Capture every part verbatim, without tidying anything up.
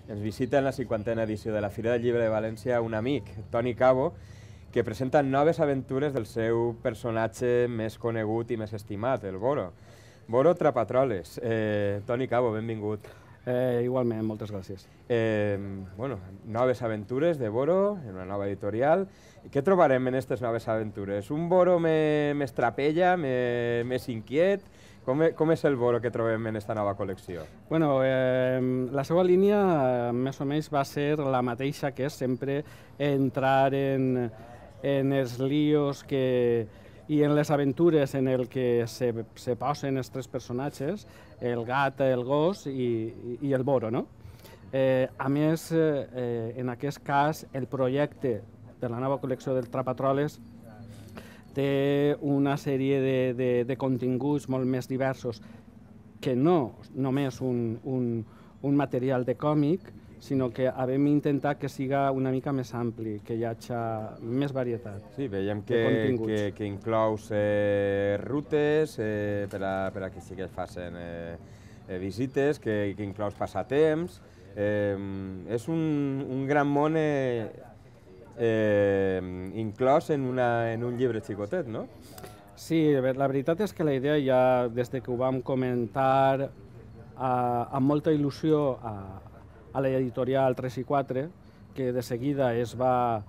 ens visita en la cinquantena edició de la Fira del Llibre de València un amic, Toni Cabo, que presenta noves aventures del seu personatge més conegut i més estimat, el Boro. Boro Trapatroles. Eh, Toni Cabo, benvingut. Eh, igualment, moltes gràcies. Eh, bueno, noves aventures de Boro, en una nova editorial. Què trobarem en aquestes noves aventures? Un Boro més, més trapella, més, més inquiet? Com, com és el Boro que trobem en aquesta nova col·lecció? Bueno, eh, la seva línia eh, més o menys va ser la mateixa, que és sempre entrar en, en els líos que, i en les aventures en el que se, se posen els tres personatges, el gat, el gos i, i el Boro, no? Eh, a més, eh, en aquest cas, el projecte de la nova col·lecció del Trapatroles té una sèrie de, de, de continguts molt més diversos que no només un, un, un material de còmic, sinó que hem intentat que siga una mica més ampli, que hi hagi més varietat. Sí, veiem que, que, que inclous eh, rutes eh, per, a, per a que sí que es facin eh, eh, visites, que, que inclous passatemps. Eh, és un, un gran món eh, eh, inclòs en, una, en un llibre xicotet, no? Sí, la veritat és que la idea ja, des que ho vam comentar eh, amb molta il·lusió a, a l'editorial tres i quatre, que de seguida es va,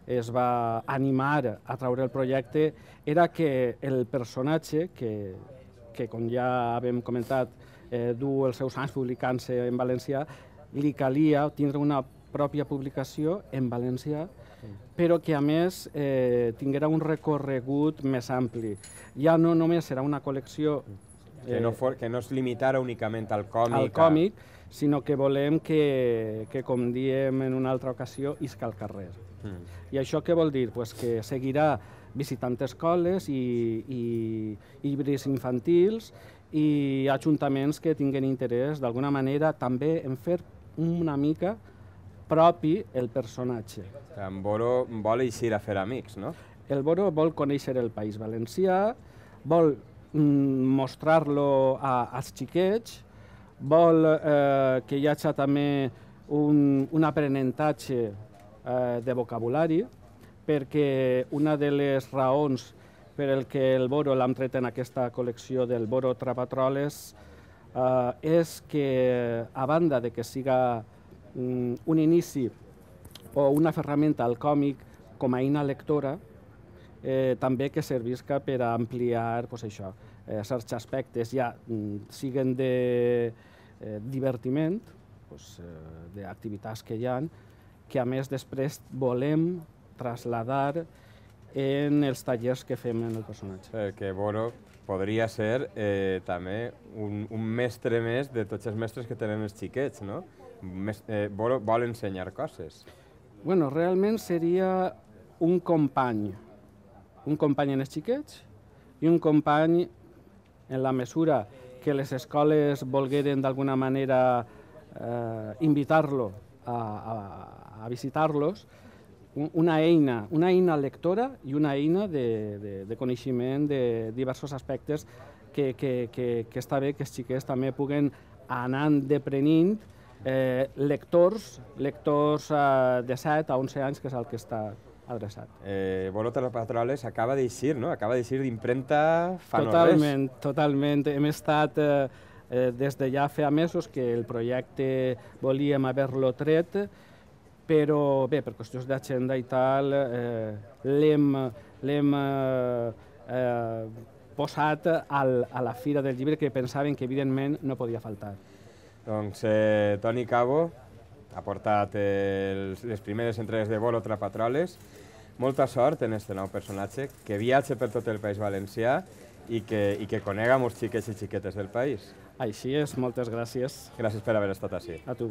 es va animar a treure el projecte, era que el personatge, que, que com ja hem comentat, eh, du els seus anys publicant-se en valencià, li calia tindre una pròpia publicació en valencià, però que a més eh, tinguera un recorregut més ampli. Ja no només serà una col·lecció eh, que, no for, que no es limitara únicament al còmic, al còmic a... sinó que volem que, que, com diem en una altra ocasió, isca al carrer. Mm. I això què vol dir? Pues que seguirà visitant escoles i, i llibres infantils i ajuntaments que tinguen interès d'alguna manera també en fer una mica propi el personatge. En Boro vol eixir a fer amics, no? El Boro vol conèixer el País Valencià, vol mm, mostrar-lo als xiquets, vol eh, que hi hagi també un, un aprenentatge eh, de vocabulari, perquè una de les raons per el que el Boro l'hem tret en aquesta col·lecció del Boro Trapatroles eh, és que, a banda de que siga um, un inici o una ferramenta al còmic com a eina lectora, eh, també que servisca per a ampliar pues, això, eh, certs aspectes, ja mm, siguen de eh, divertiment, pues, eh, d'activitats que hi ha, que a més després volem traslladar en els tallers que fem en el personatge. Perquè Boro podria ser eh, també un, un mestre més de tots els mestres que tenen els xiquets, no? Mes, eh, Boro vol ensenyar coses. Bueno, realment seria un company, un company en els xiquets i un company en la mesura que les escoles volgueren d'alguna manera eh, invitar-lo a, a, a visitar-los, una eina, una eina lectora i una eina de, de, de coneixement de diversos aspectes que, que, que, que està bé que els xiquets també puguen anar deprenent eh, lectors, lectors eh, de set a onze anys, que és el que està adreçat. Eh, Boro Trapatroles acaba d'eixir, no? Acaba d'eixir d'impremta fa no res. Totalment, totalment. Hem estat eh, eh, des de ja fa mesos que el projecte volíem haver-lo tret, però bé, per qüestions d'agenda i tal, eh, l'hem eh, eh, posat al, a la Fira del Llibre, que pensaven que evidentment no podia faltar. Doncs eh, Toni Cabo ha portat els, les primeres entregues de Boro Trapatroles. Molta sort en aquest nou personatge, que viatge per tot el País Valencià i que, i que conega molts xiquets i xiquetes del país. Així és, moltes gràcies. Gràcies per haver estat així. A tu.